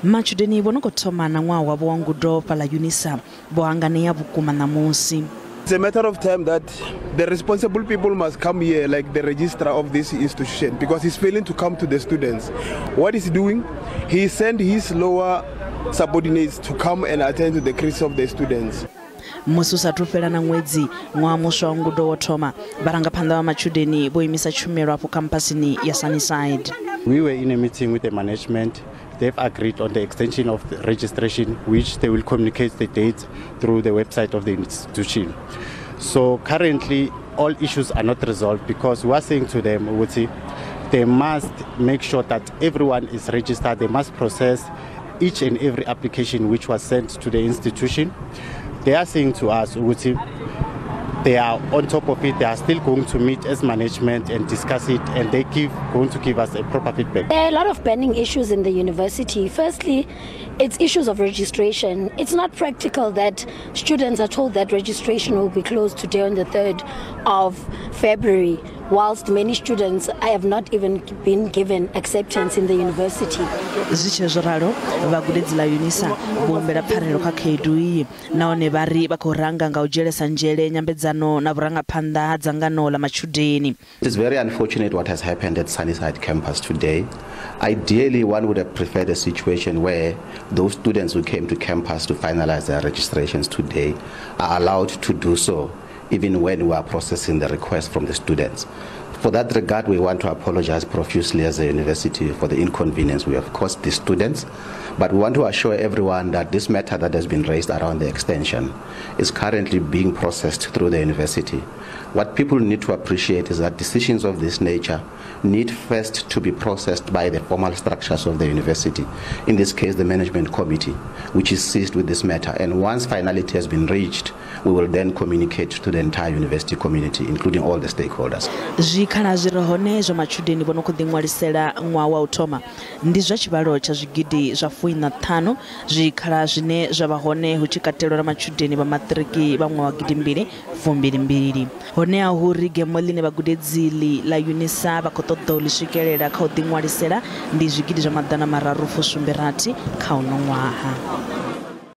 Matshudeni vho no khou thoma na ṅwaha wavho wa ngudo fhaḽa UNISA vho hanganea vhukuma ṋamusi. It's a matter of time that the responsible people must come here, like the registrar of this institution, because he's failing to come to the students. What is he doing? He sent his lower subordinates to come and attend to the crisis of the students. Musi u sathu fhela na ṅwedzi ṅwaha muswa wa ngudo wo thoma, vharangaphanḓa vha matshudeni vho imisa tshumelo afho khamphasini ya Sunnyside. We were in a meeting with the management. They've agreed on the extension of the registration, which they will communicate the dates through the website of the institution. So currently, all issues are not resolved because we are saying to them, they must make sure that everyone is registered. They must process each and every application which was sent to the institution. They are saying to us, they are on top of it. They are still going to meet as management and discuss it, and they going to give us a proper feedback. There are a lot of burning issues in the university. Firstly, it's issues of registration. It's not practical that students are told that registration will be closed today on the 3rd of February, whilst many students have not even been given acceptance in the university. Zwi tshe zwo ralo, vhagudedzi ḽa UNISA vho humbela pfarelo kha khaedu iyi nahone vha ri vha khou ranga nga u dzhielesa nzhele nyambedzano na vhurangaphanḓa ha dzangano ḽa matshudeni. It's very unfortunate what has happened at Sunnyside campus today. Ideally, one would have preferred a situation where those students who came to campus to finalize their registrations today are allowed to do so, even when we are processing the request from the students. For that regard, we want to apologize profusely as a university for the inconvenience we have caused the students. But we want to assure everyone that this matter that has been raised around the extension is currently being processed through the university. What people need to appreciate is that decisions of this nature need first to be processed by the formal structures of the university, in this case the management committee, which is seized with this matter. And once finality has been reached, we will then communicate to the entire university community, including all the stakeholders. Zwikhala zwi re hone zwa matshudeni vho no khou ḓiṅwalisela ṅwaha wa u thoma ndi zwa tshivhalo tsha zwigidi zwa 15, zwikhala zwine zwa vha hone hu tshi katelwa na matshudeni vha maṱiriki vha ṅwaha wa 2022. Honeha hu ri gemo ḽine vhagudedzi ḽa UNISA vha khou ṱoḓa u ḽi swikelela kha u ḓiṅwalisela ndi zwigidi zwa 376 kha uno ṅwaha.